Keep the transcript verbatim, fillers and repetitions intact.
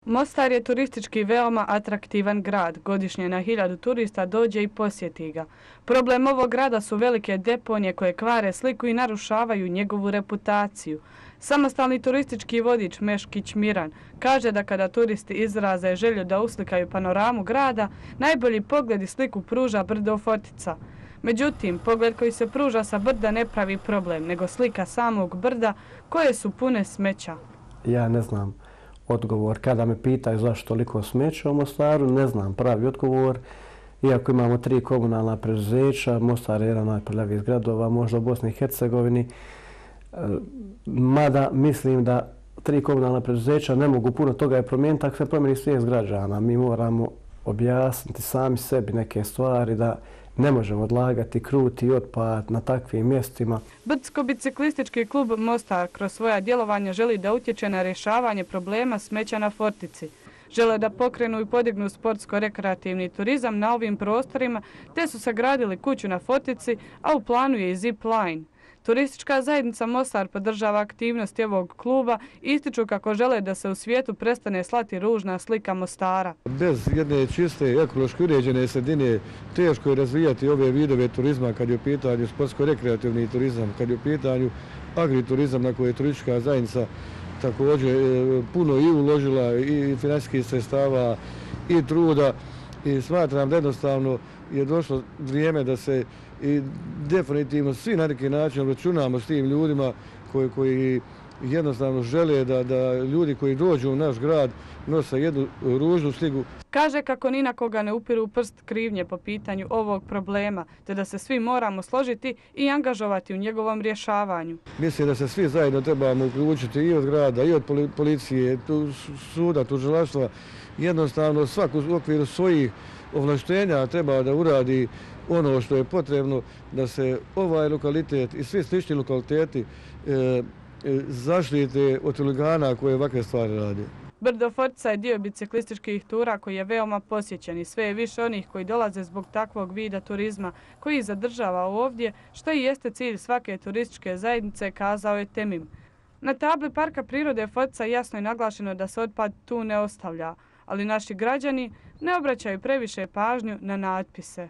Mostar je turistički veoma atraktivan grad. Godišnje na hiljadu turista dođe i posjeti ga. Problem ovog grada su velike deponije koje kvare sliku i narušavaju njegovu reputaciju. Samostalni turistički vodič Meškić Miran kaže da kada turisti izraze želju da uslikaju panoramu grada, najbolji pogled i sliku pruža brdo Fortica. Međutim, pogled koji se pruža sa brda ne pravi problem, nego slika samog brda koje su pune smeća. Ja ne znam odgovor. Kada me pitaju zašto toliko smeća u Mostaru, ne znam pravi odgovor. Iako imamo tri komunalna preduzeća, Mostar je jedan najprljavijih gradova, možda u Bosni i Hercegovini. Mada mislim da tri komunalna preduzeća ne mogu puno toga je promijeniti, ako se promijeni svijest građana. Mi moramo objasniti sami sebi neke stvari da ne možemo odlagati kruti otpad na takvim mjestima. Brdsko-biciklistički klub Mostar kroz svoja djelovanja želi da utječe na rješavanje problema smeća na Fortici. Žele da pokrenu i podignu sportsko-rekreativni turizam na ovim prostorima, te su sagradili kuću na Fortici, a u planu je i zip line. Turistička zajednica Mostar podržava aktivnosti ovog kluba i ističu kako žele da se u svijetu prestane slati ružna slika Mostara. Bez jedne čiste, ekološki uređene sredine teško je razvijati ove vidove turizma kad je u pitanju sportsko-rekreativni turizam, kad je u pitanju agriturizam na koje je turistička zajednica također puno i uložila i financijskih sredstava i truda i smatram da jednostavno je došlo vrijeme da se i definitivno svi na neki način računamo s tim ljudima koji, koji jednostavno žele da, da ljudi koji dođu u naš grad nose jednu ružnu sliku. Kaže kako ni na koga ne upiru prst krivnje po pitanju ovog problema, te da se svi moramo složiti i angažovati u njegovom rješavanju. Mislim da se svi zajedno trebamo uključiti i od grada, i od policije, tu, suda, tužilaštva. Jednostavno svak u okviru svojih ovlaštenja treba da uradi ono što je potrebno da se ovaj lokalitet i svi slični lokaliteti e, e, zaštite od huligana koje ovakve stvari rade. Brdo Fortica je dio biciklističkih tura koji je veoma posjećen i sve je više onih koji dolaze zbog takvog vida turizma koji ih zadržava ovdje, što i jeste cilj svake turističke zajednice, kazao je Temim. Na tabli Parka prirode Fortica jasno je naglašeno da se otpad tu ne ostavlja, ali naši građani ne obraćaju previše pažnju na natpise.